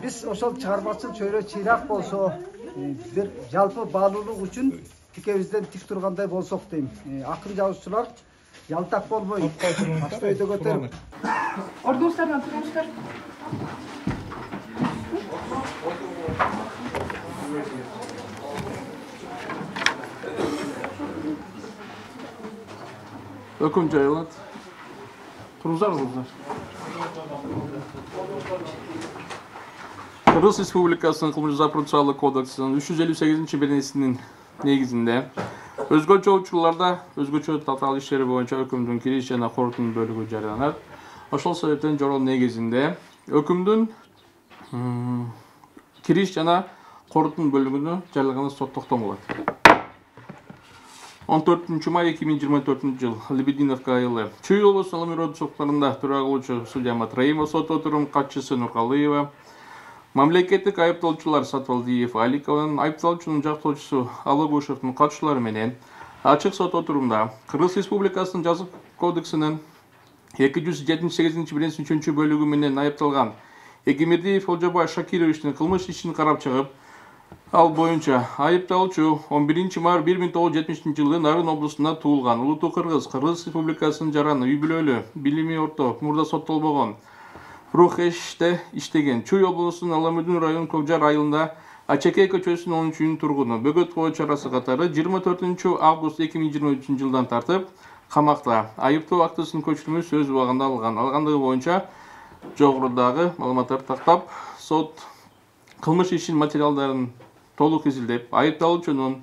Биз ошол чыгармачыл чөйрө чыйрак болсо, бир жалпы баалуулук үчүн тикебизден тик тургандай болсок дейм. Акын жазуучулар ялтак болбой, башты өйдө көтөрүп. Ордуңуздардан туруңуздар. Өкүм жайылат. Туруңуздар, кыздар. Кыргыз Республикасынын Кылмыш жаза процессуалдык кодексинин 358-беренесинин негизинде өзгөчө учурларда өзгөчө татаал иштери боюнча өкүмдүн кириш жана корутун бөлүгү жарыяланат. Ошол себептен жороо негизинде өкүмдүн кириш жана корутун бөлүгүнө жарыялаганы сот токтомолот. 14 май 2024 жыл Лебединовка айылы Чүй облусунун Алым райондук соттарында төрага кылуучу судья Матраимов, сот отурум катчысы Нуркалыева, мамлекеттик айыптоочулар Сатвалдиев, Аликованын, айыпталуучунун жактоочусу Алогушевдун катышуулары менен ачык сот отурумда Кыргыз Республикасынын жаза кодексинин 278-беренесинин 3 бөлүгү менен айыпталган Эгембердиев Олжобай Шакировичтин кылмыш ишин карап чыгып, ал боюнча айыпталуучу 11 май 1970 жылы Нарын облусунда туулган, улуттуу кыргыз, Кыргыз Республикасынын жараны, үй бүлөлүү, билими орто, мурда соттолбогон, Рухеште иштеген, Чүй облусунун Аламүдүн районунун Көкжар айылында Ачекей көчөсүнүн 13 тургуну бөгөт коо чарасы катары 24 август 2023 жылдан тартып камакта. Айыптоо актысынын көчүрмө сөз убагында алгандыгы боюнча жогорудагы маалыматтарды тактап, сот кылмыш ишинин материалдарын толук изилдеп, айыпталуучунун,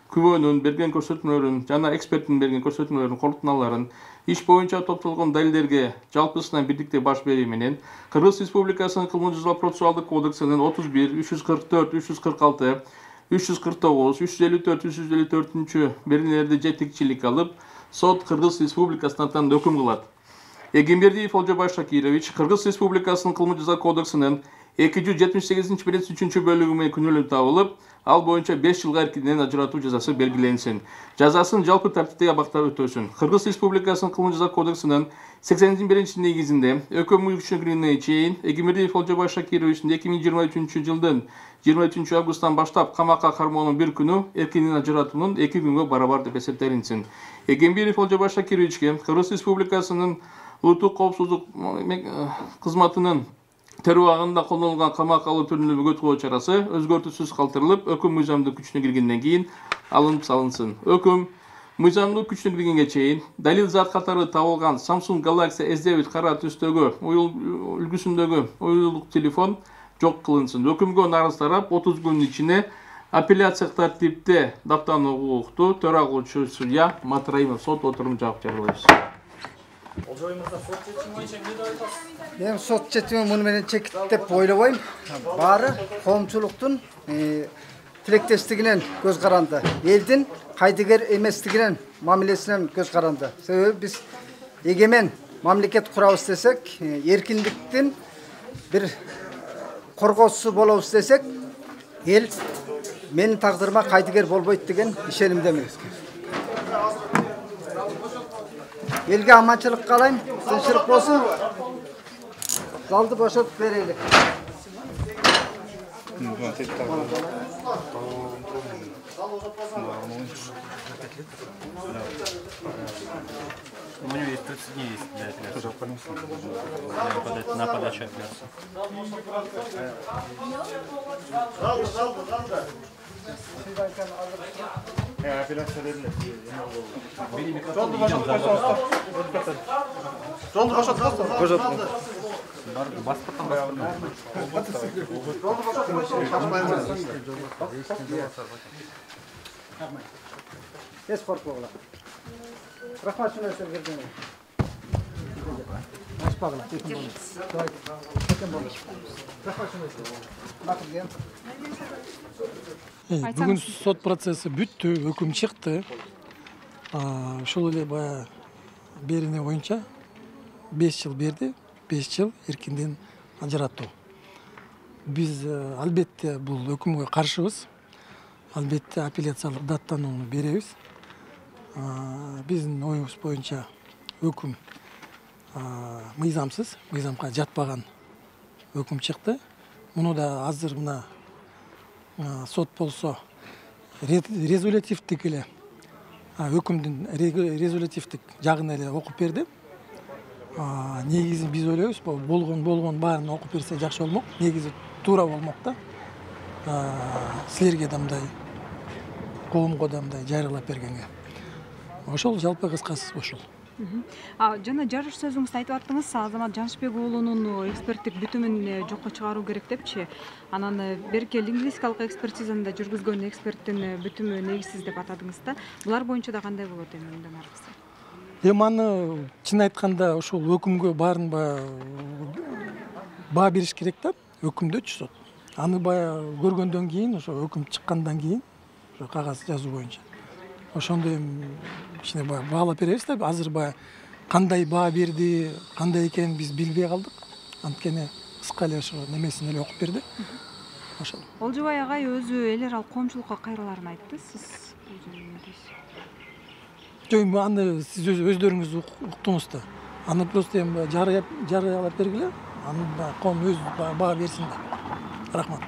күбөнүн берген көрсөтмөлөрүн жана эксперттин берген көрсөтмөлөрүн, корутуналарын, иш боюнча топтолгон далилдерге жалпысынан бирдикте баш берүү менен Кыргыз Республикасынын Кылмыш жаза процессуалдык кодексинин 31, 344, 346, 349, 354, 354 беренелерди жетекчилик алып, сот Кыргыз Республикасына атаан өкүм кылат. Эгембердиев Олжобай Шакирович Кыргыз Республикасынын Кылмыш жаза кодексинин 278-беренесинин 3 бөлүгү менен күнөөлүү табылып, ал боюнча 5 жылга эркинден ажыратуу жазасы белгиленсин. Жазасын жалпы тартиптеги абактар өтөсүн. Кыргыз Республикасынын Кылмыш жаза кодексинин 81 негизинде өкүм күчүнө киргенге чейин Эгембердиев Олжобай Шакировичтин 2023 жылдын 23 августтан баштап камакка кармоонун бир күнү эркинден ажыратуунун 2 күнгө барабар деп эсептелинсин. Эгембердиев Олжобай Шакировичке Кыргыз Республикасынын улуттук коопсуздук кызматынын террор убагында колдонулган камак алуу түрүндө бөгөт коо чарасы өзгөртүүсүз калтырылып, өкүм мыйзамдуу күчүнө киргенден кийин алынып салынсын. Өкүм мыйзамдуу күчүнө киргенге чейин далил зат катары табылган Samsung Galaxy S9 кара түстөгү үлгүсүндөгү уюлдук телефон жок кылынсын. Өкүмгө нарыз тарап 30 күнүн ичинде апелляциялык тартипте даттануу укуктуу төрага кылуучу судья Матраимов сот отурумун жаап жарыялайбыз. Мен сот четими муну менен чекит деп ойлобойм. Баары коомчулуктун тилектештигинен көз каранды. Элдин кайдыгер эместигинен, мамилесинен көз каранды. Себеби биз эгемен мамлекет курабыз десек, эркиндиктин бир коргоочусу болобуз десек, эл менин тагдырыма кайдыгер болбойт деген ишенимдемин. Элге аманчылык каалайм, тынччылык болсун. Залды бошотуп берели. У него есть 30 дней для апелляции. На подачу апелляции. Апелляция берилет. Жолду бошот. Эс коркпогула. Рахмат шуну нерсе бердиңер. Ашпагыла. Бүгүн сот процесси бүттү, өкүм чыкты. Ошол эле баягы берене боюнча 5 жыл берди, 5 жыл эркинден ажыратуу. Биз албетте бул өкүмгө каршыбыз. Албетте апелляциялык даттанууну беребиз. Биздин оюбуз боюнча өкүм мыйзамсыз, мыйзамга жатпаган өкүм чыкты. Муну да азыр мына сот болсо резолютивдик эле өкүмдүн резолютивдик жагын эле окуп берди. Негизи биз ойлойбуз, болгон баарын окуп берсе жакшы болмок. Негизи туура болмок да. Силерге да мындай, коомго да мындай жарыялап бергенге. Ошол жалпы кыскасы ошол. Жана жарыш сөзүңүздө айтып аттыңыз, Азамат Жанышбек уулунун эксперттик бүтүмүн жокко чыгаруу керек депчи. Анан берки лингвистикалык экспертизаны да жүргүзгөн эксперттин бүтүмү негизсиз деп атадыңыз да. Булар боюнча да кандай болот эми мындан аркысы? Эми аны чын айтканда ошол өкүмгө баарын баа бериш керек да, өкүмдөчү сот. Аны баягы көргөндөн кийин, ошо өкүм чыккандан кийин, ошо кагаз жазуу боюнча. Ошондо эми кичине баалап беребиз да. Азыр кандай баа берди, кандай экенин биз билбей калдык. Анткени кыска эле ошо немесин эле окуп берди. Ошол. Олжобай агай өзү эл аралык коомчулукка кайрыларын айтты. Сиз Жок, аны сиз өздөрүңүз уктуңуз да. Аны просто эми жарыялап бергиле. Аны коом өзү баа берсин да. Рахмат.